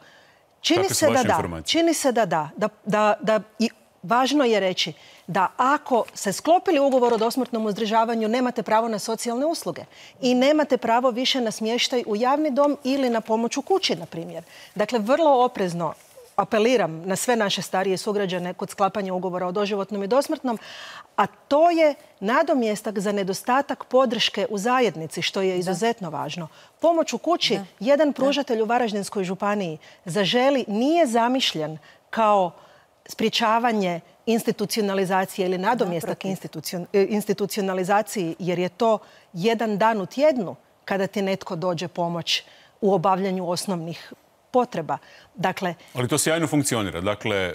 Čini se da da. Čini se da da. Da, da, da i važno je reći da ako se sklopili ugovor o dosmrtnom uzdržavanju, nemate pravo na socijalne usluge i nemate pravo više na smještaj u javni dom ili na pomoć u kući, na primjer. Dakle, vrlo oprezno apeliram na sve naše starije sugrađane kod sklapanja ugovora o doživotnom i dosmrtnom, a to je nadomjestak za nedostatak podrške u zajednici, što je izuzetno važno. Pomoć u kući, jedan pružatelj u Varaždinskoj županiji Zaželi nije zamišljen kao sprječavanje institucionalizacije ili nadomjestak institucionalizaciji, jer je to jedan dan u tjednu kada ti netko dođe pomoć u obavljanju osnovnih potreba. Dakle, ali to sjajno funkcionira. Dakle,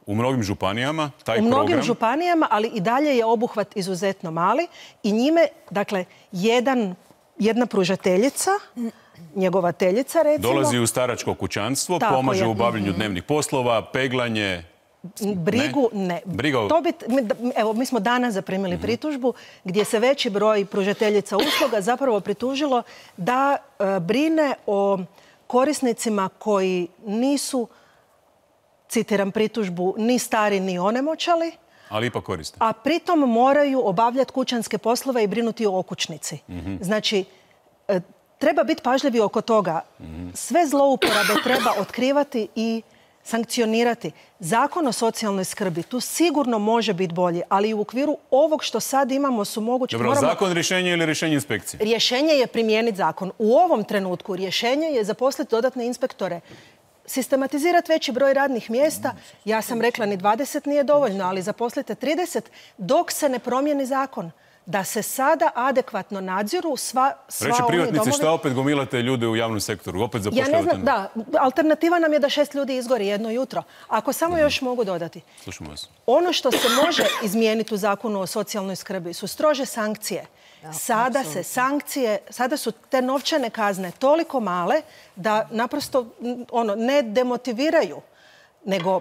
u mnogim županijama taj program... U mnogim županijama, ali i dalje je obuhvat izuzetno mali i njime, dakle, jedan, jedna pružateljica, njegovateljica, recimo... Dolazi u staračko kućanstvo, pomaže u obavljanju dnevnih poslova, peglanje... Brigu ne. Briga... To bi, evo, mi smo danas zaprimili mm-hmm. pritužbu gdje se veći broj pružateljica usluga zapravo pritužilo da e, brine o korisnicima koji nisu, citiram pritužbu, ni stari ni onemoćali, ali ipak koriste. A pritom moraju obavljati kućanske poslove i brinuti o okućnici. Mm-hmm. Znači, e, treba biti pažljivi oko toga. Mm-hmm. Sve zlouporabe treba otkrivati i sankcionirati. Zakon o socijalnoj skrbi tu sigurno može biti bolji, ali u okviru ovog što sad imamo su moguće... Dobro, moramo... zakon rješenje ili rješenje inspekcije? Rješenje je primijeniti zakon. U ovom trenutku rješenje je zaposliti dodatne inspektore, sistematizirati veći broj radnih mjesta. Ja sam rekla ni dvadeset nije dovoljno, ali zaposlite trideset dok se ne promijeni zakon. Da se sada adekvatno nadziru sva, sva Reći oni privatnici domovi. Šta opet gomilate ljude u javnom sektoru? Opet zapošljavate? Ja ne znam, da. Alternativa nam je da šest ljudi izgori jedno jutro. Ako samo mm. još mogu dodati. Slušamo vas. Ono što se može izmijeniti u zakonu o socijalnoj skrbi su strože sankcije. Da, sada absolutno. se sankcije, sada su te novčane kazne toliko male da naprosto ono, ne demotiviraju, nego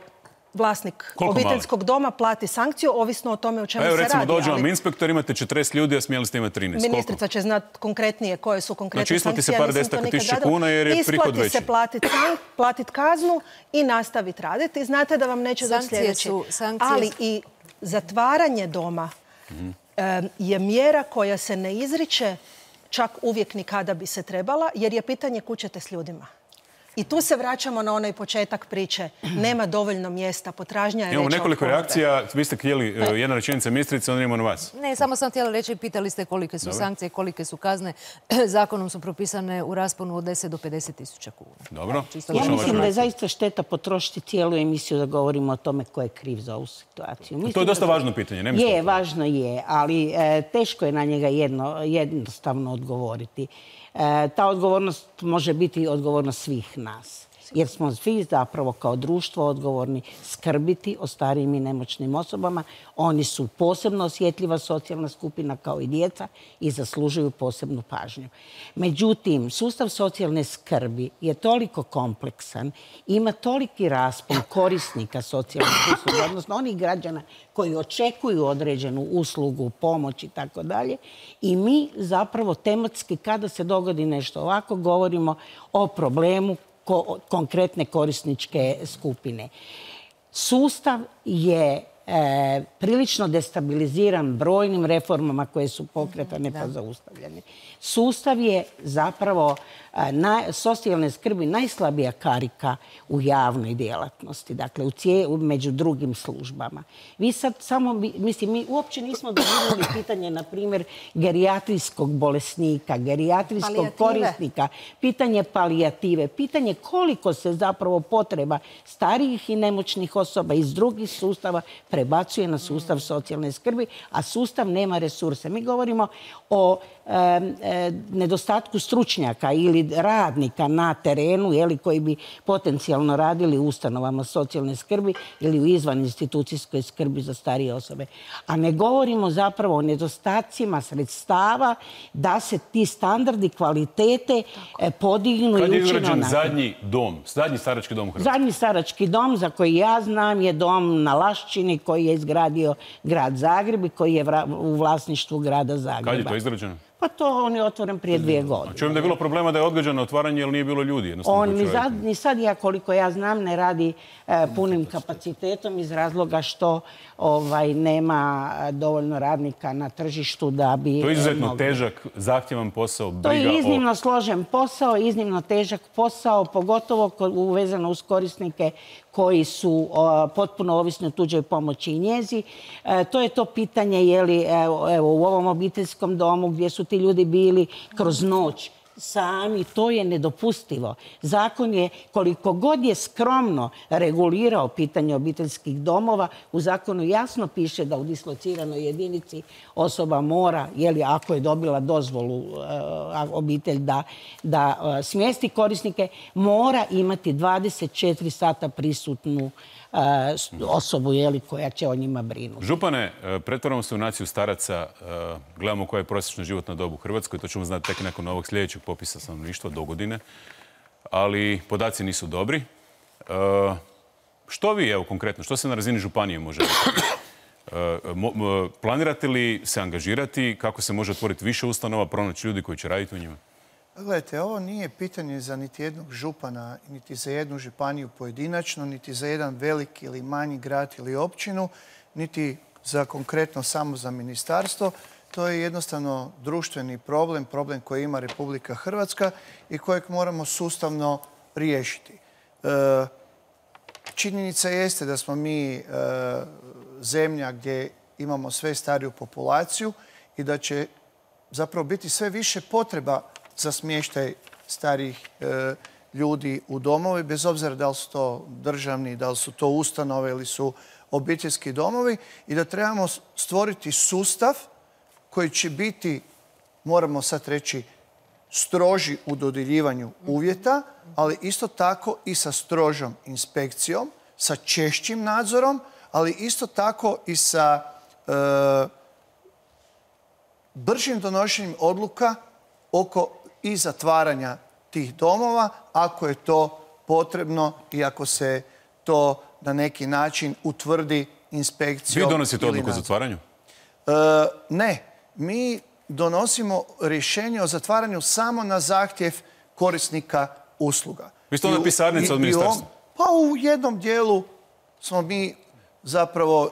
vlasnik Koliko obiteljskog male? doma plati sankciju, ovisno o tome o čemu Evo, se recimo, radi. dođe vam inspektor, imate četrdeset ljudi, a smjeli ste imati trinaest. Ministrica Koliko? će znati konkretnije koje su konkretne znači, sankcije. Znači, isplati se par desetaka tisuća kuna jer je prihod veći. Isplati se platiti platit kaznu i nastaviti raditi. Znate da vam neće doći sljedeći. Sankcije... Ali i zatvaranje doma mm. je mjera koja se ne izriče čak uvijek ni kada bi se trebala, jer je pitanje kuda ćete s ljudima. I tu se vraćamo na onaj početak priče. Nema dovoljno mjesta, potražnja je veća. Imamo nekoliko reakcija. Vi ste htjeli jedna rečenica ministrice, onda imamo na vas. Ne, samo sam htjela reći, pitali ste kolike su Dobre. sankcije, kolike su kazne. Zakonom su propisane u rasponu od deset do pedeset tisuća kuna. Dobro. Ja mislim da je zaista šteta potrošiti cijelu emisiju da govorimo o tome ko je kriv za ovu situaciju. Mislim to je dosta da... važno pitanje. Ne je, važno je, ali e, teško je na njega jedno, jednostavno odgovoriti. E, ta odgovornost može biti odgovornost svih nas. jer smo svi zapravo kao društvo odgovorni skrbiti o starijim i nemoćnim osobama. Oni su posebno osjetljiva socijalna skupina kao i djeca i zaslužuju posebnu pažnju. Međutim, sustav socijalne skrbi je toliko kompleksan, ima toliki raspon korisnika socijalne usluge, odnosno onih građana koji očekuju određenu uslugu, pomoć i tako dalje. I mi zapravo tematski, kada se dogodi nešto ovako, govorimo o problemu ko- konkretne korisničke skupine. Sustav je e, prilično destabiliziran brojnim reformama koje su pokretane pa zaustavljene. Sustav je zapravo a, na, socijalne skrbi najslabija karika u javnoj djelatnosti, dakle u cije, u, među drugim službama. Vi sad samo, mislim, mi uopće nismo doživjeli pitanje, na primjer, gerijatrijskog bolesnika, gerijatrijskog palijative. Korisnika, pitanje palijative, pitanje koliko se zapravo potreba starijih i nemoćnih osoba iz drugih sustava prebacuje na sustav socijalne skrbi, a sustav nema resurse. Mi govorimo o e, e, nedostatku stručnjaka ili radnika na terenu, jeli, koji bi potencijalno radili u ustanovama socijalne skrbi ili u izvan institucijskoj skrbi za starije osobe. A ne govorimo zapravo o nedostacima sredstava da se ti standardi kvalitete e, podignu Kad i je učinu izgrađen na... zadnji dom, zadnji starački dom u Hrvatskoj? Zadnji starački dom za koji ja znam je dom na Laščini koji je izgradio grad Zagreb i koji je u vlasništvu grada Zagreba. Kad je to izgrađeno? Pa to on je otvoren prije dvije godine. Čujem da je bilo problema da je odgađano otvaranje jer nije bilo ljudi. On ni sad, ni sad, ja koliko ja znam, ne radi e, punim kapacitetom iz razloga što ovaj, nema dovoljno radnika na tržištu da bi... To je izuzetno mogli. težak, zahtjevan posao, briga To je iznimno o... složen posao, iznimno težak posao, pogotovo uvezano uz korisnike koji su o, potpuno ovisni o tuđoj pomoći i njezi. E, to je to pitanje, je li, evo, evo, u ovom obiteljskom domu gdje su ti ljudi bili kroz noć sami, to je nedopustivo. Zakon je, koliko god je skromno regulirao pitanje obiteljskih domova, u zakonu jasno piše da u dislociranoj jedinici osoba mora, jeli, ako je dobila dozvolu uh, obitelj da, da uh, smjesti korisnike, mora imati dvadeset četiri sata prisutnu uh, osobu, jeli, koja će o njima brinuti. Župane, pretvaramo se u naciju staraca, uh, gledamo koja je prosječna životna doba u Hrvatskoj, to ćemo znati tek nakon ovog sljedećeg popisa stanovništva do godine, ali podaci nisu dobri. Uh, što vi, evo konkretno, što se na razini županije može uh, planirate li se angažirati, kako se može otvoriti više ustanova, pronaći ljudi koji će raditi u njima? Gledajte, ovo nije pitanje za niti jednog župana, niti za jednu županiju pojedinačno, niti za jedan veliki ili manji grad ili općinu, niti za konkretno samo za ministarstvo. To je jednostavno društveni problem, problem koji ima Republika Hrvatska i kojeg moramo sustavno riješiti. E, činjenica jeste da smo mi e, zemlja gdje imamo sve stariju populaciju i da će zapravo biti sve više potreba za smještaj starijih e, ljudi u domovi, bez obzira da li su to državni, da li su to ustanove ili su obiteljski domovi, i da trebamo stvoriti sustav koji će biti, moramo sad reći, stroži u dodjeljivanju uvjeta, ali isto tako i sa strožom inspekcijom, sa češćim nadzorom, ali isto tako i sa e, bržim donošenjem odluka oko i zatvaranja tih domova, ako je to potrebno i ako se to na neki način utvrdi inspekcijom. Vi donosite odluku o zatvaranju? E, ne. Mi donosimo rješenje o zatvaranju samo na zahtjev korisnika usluga. Vi ste onda pisarnica od ministarstva? Pa u jednom dijelu smo mi zapravo uh,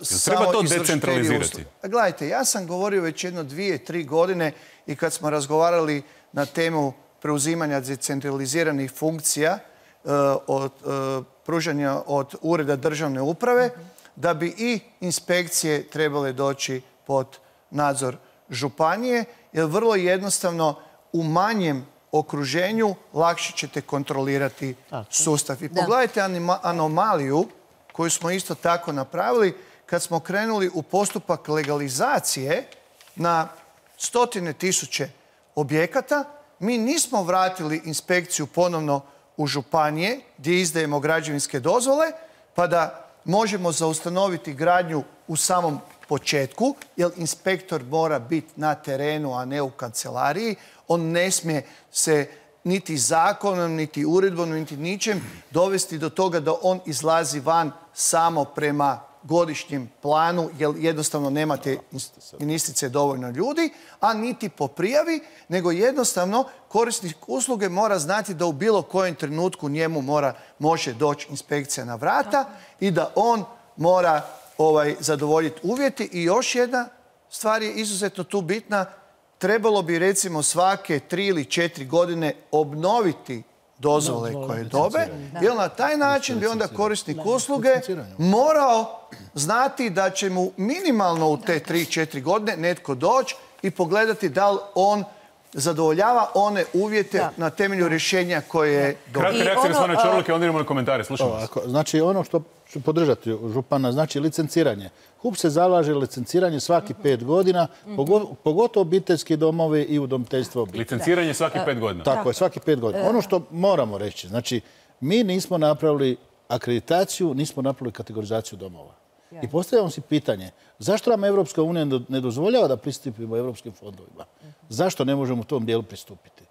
samo treba to izvršitelji decentralizirati? usluga. Gledajte, ja sam govorio već jedno dvije, tri godine i kad smo razgovarali na temu preuzimanja decentraliziranih funkcija uh, od uh, pružanja od ureda državne uprave, da bi i inspekcije trebale doći pod nadzor županije, jer vrlo jednostavno u manjem okruženju lakše ćete kontrolirati sustav. I pogledajte anomaliju koju smo isto tako napravili kad smo krenuli u postupak legalizacije na stotine tisuće objekata. Mi nismo vratili inspekciju ponovno u županije gdje izdajemo građevinske dozvole, pa da možemo zaustanoviti gradnju u samom početku, jer inspektor mora biti na terenu, a ne u kancelariji. On ne smije se niti zakonom, niti uredbom, niti ničem dovesti do toga da on izlazi van samo prema godišnjem planu, jer jednostavno nemate ministrice dovoljno ljudi, a niti po prijavi, nego jednostavno korisnik usluge mora znati da u bilo kojem trenutku njemu mora, može doći inspekcija na vrata i da on mora ovaj, zadovoljiti uvjeti. I još jedna stvar je izuzetno tu bitna. Trebalo bi recimo svake tri ili četiri godine obnoviti dozvole koje dobe, jer na taj način bi onda korisnik usluge morao znati da će mu minimalno u te tri četiri godine netko doći i pogledati da li on zadovoljava one uvjete na temelju rješenja koje je dobio. Kratka reakcija gospodina Čorluke, onda idemo na komentare. Slušamo vas. Znači, ono što ću podržati župana, znači licenciranje. H U P se zalaže licenciranje svaki pet godina, pogotovo obiteljski domovi i udomiteljstvo obitelji. Licenciranje svaki pet godina. Tako je, svaki pet godina. Ono što moramo reći, znači, mi nismo napravili akreditaciju, nismo napravili kategorizaciju domova. I postavljamo si pitanje, zašto nam Evropska unija ne dozvoljava da pristupimo evropskim fondovima? Zašto ne možemo u tom dijelu pristupiti?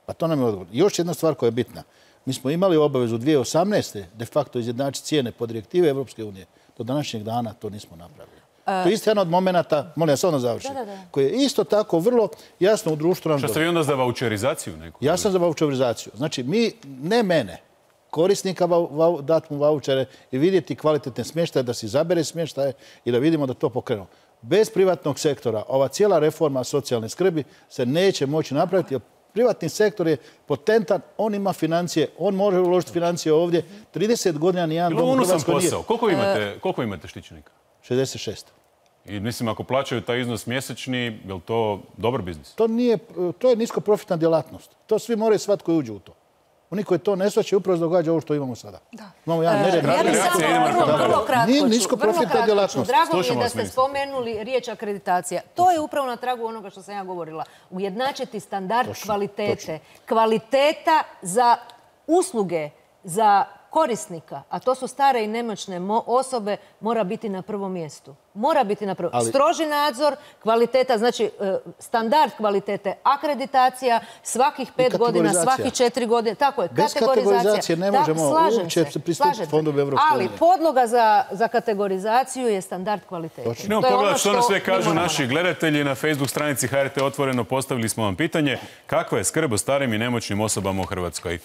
Pa to nam je odgovor. Još jedna stvar koja je bitna. Mi smo imali obavezu dvije tisuće osamnaeste de facto izjednačiti cijene po direktive Evropske unije. Do današnjeg dana to nismo napravili. To je isto jedan od momenata, molim ja samo da završim, koji je isto tako vrlo jasno u društvu. Što ste vi onda za vaučerizaciju neku? Ja sam za vaučerizaciju. Znači, mi, ne mene, korisnika dati mu vaučere i vidjeti kvalitetne smještaje, da si zabere smještaje i da vidimo da to pokrenu. Bez privatnog sektora ova cijela reforma socijalne skrbi se neće moći napraviti, jer privatni sektor je potentan, on ima financije, on može uložiti financije ovdje. trideset godina nijedan dom u Hrvatskoj nije. Koliko imate, koliko imate štićenika? šezdeset šest. I mislim, ako plaćaju taj iznos mjesečni, je li to dobar biznis? To nije, to je nisko profitna djelatnost. To svi moraju shvatiti koji uđu u to. Oni koji to ne shvaćaju upravo se događa ovo što imamo sada. Imamo jedan nered. Ja bih samo vrlo kratko Nije nisko profitna djelatnost. Drago mi je da ste spomenuli riječ akreditacija. To je upravo na tragu onoga što sam ja govorila. Ujednačiti standard kvalitete. Kvaliteta za usluge, za korisnika, a to su stare i nemoćne osobe, mora biti na prvom mjestu. Mora biti na prvom. Stroži nadzor, kvaliteta, znači standard kvalitete, akreditacija, svakih pet godina, svakih četiri godine. Tako je, kategorizacija. Bez kategorizacije ne možemo uopće pristupiti fondovi Evropske unije. Ali podloga za kategorizaciju je standard kvalitete. Idemo pogledati što nam sve kažu naši gledatelji. Na Facebook stranici H R T Otvoreno postavili smo vam pitanje kakva je skrb o starim i nemoćnim osobama u Hrvatskoj.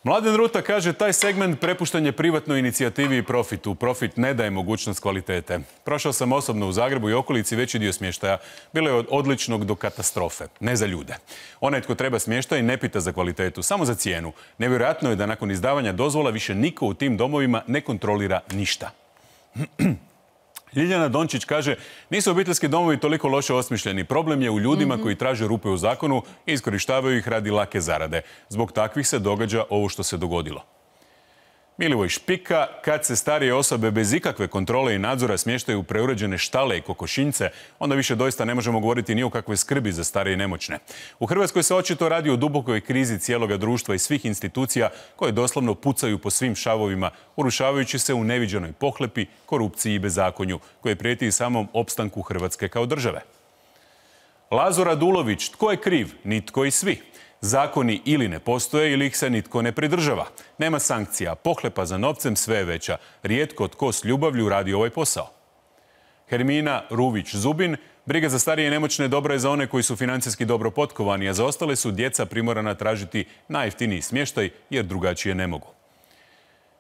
Mladen Ruta kaže taj segment prepušten je privatnoj inicijativi i profitu. Profit ne daje mogućnost kvalitete. Prošao sam osobno u Zagrebu i okolici veći dio smještaja. Bilo je od odličnog do katastrofe. Ne za ljude. Onaj tko treba smještaj ne pita za kvalitetu, samo za cijenu. Nevjerojatno je da nakon izdavanja dozvola više niko u tim domovima ne kontrolira ništa. Ljiljana Dončić kaže, nisu obiteljski domovi toliko loše osmišljeni. Problem je u ljudima koji traže rupe u zakonu i iskorištavaju ih radi lake zarade. Zbog takvih se događa ovo što se dogodilo. Milivoj Špika, kad se starije osobe bez ikakve kontrole i nadzora smještaju u preuređene štale i kokošinjce, onda više doista ne možemo govoriti ni o kakvoj skrbi za starije i nemoćne. U Hrvatskoj se očito radi o dubokoj krizi cijeloga društva i svih institucija koje doslovno pucaju po svim šavovima, urušavajući se u neviđenoj pohlepi, korupciji i bezakonju, koje prijeti i samom opstanku Hrvatske kao države. Lazo Radulović, tko je kriv? Nitko i svi. Zakoni ili ne postoje ili ih se nitko ne pridržava. Nema sankcija, pohlepa za novcem sve je veća. Rijetko tko s ljubavlju radi ovaj posao. Hermina Ruvić-Zubin, briga za starije i nemoćne dobra je za one koji su financijski dobro potkovani, a za ostale su djeca primorana tražiti najjeftiniji smještaj jer drugačije ne mogu.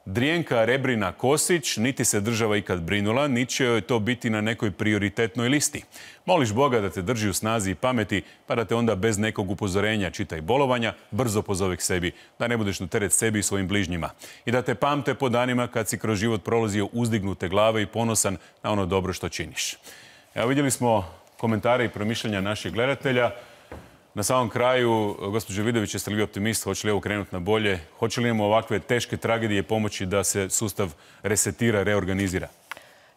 Drijenka Rebrina Kosić, niti se država ikad brinula, niti će joj to biti na nekoj prioritetnoj listi. Moliš Boga da te drži u snazi i pameti, pa da te onda bez nekog upozorenja, čitaj bolovanja, brzo pozove k sebi, da ne budeš na teret sebi i svojim bližnjima. I da te pamte po danima kad si kroz život prolazio uzdignute glave i ponosan na ono dobro što činiš. Evo, vidjeli smo komentare i promišljanja naših gledatelja. Na samom kraju, gospođo Vidović, jeste li vi optimist? Hoće li ovo krenuti na bolje? Hoće li imamo ovakve teške tragedije pomoći da se sustav resetira, reorganizira?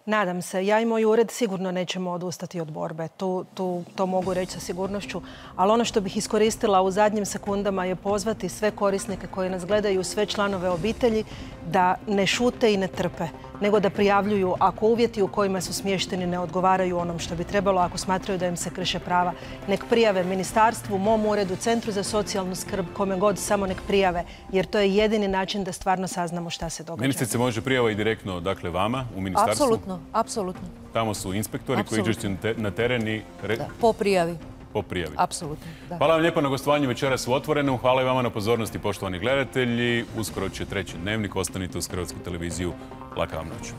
Nadam se. Ja i moj ured sigurno nećemo odustati od borbe. Tu, tu, to mogu reći sa sigurnošću. Ali ono što bih iskoristila u zadnjim sekundama je pozvati sve korisnike koji nas gledaju, sve članove obitelji, da ne šute i ne trpe, nego da prijavljuju ako uvjeti u kojima su smješteni ne odgovaraju onom što bi trebalo, ako smatraju da im se krše prava. Nek prijave ministarstvu, mom uredu, Centru za socijalnu skrb, kome god, samo nek prijave, jer to je jedini način da stvarno saznamo šta se događa. Ministrice, može prijava i direktno, dakle, vama u ministarstvu? Apsolutno, apsolutno. Tamo su inspektori koji iđu na teren i... Po prijavi. Po prijavi. Apsolutno, da. Hvala vam lijepo na gostovanju večeras u Otvorenom. Hvala i vama na pozornosti, poštovani gledatelji. Uskoro će treći dnevnik. Ostanite uz Hrvatsku televiziju. Laka vam noć.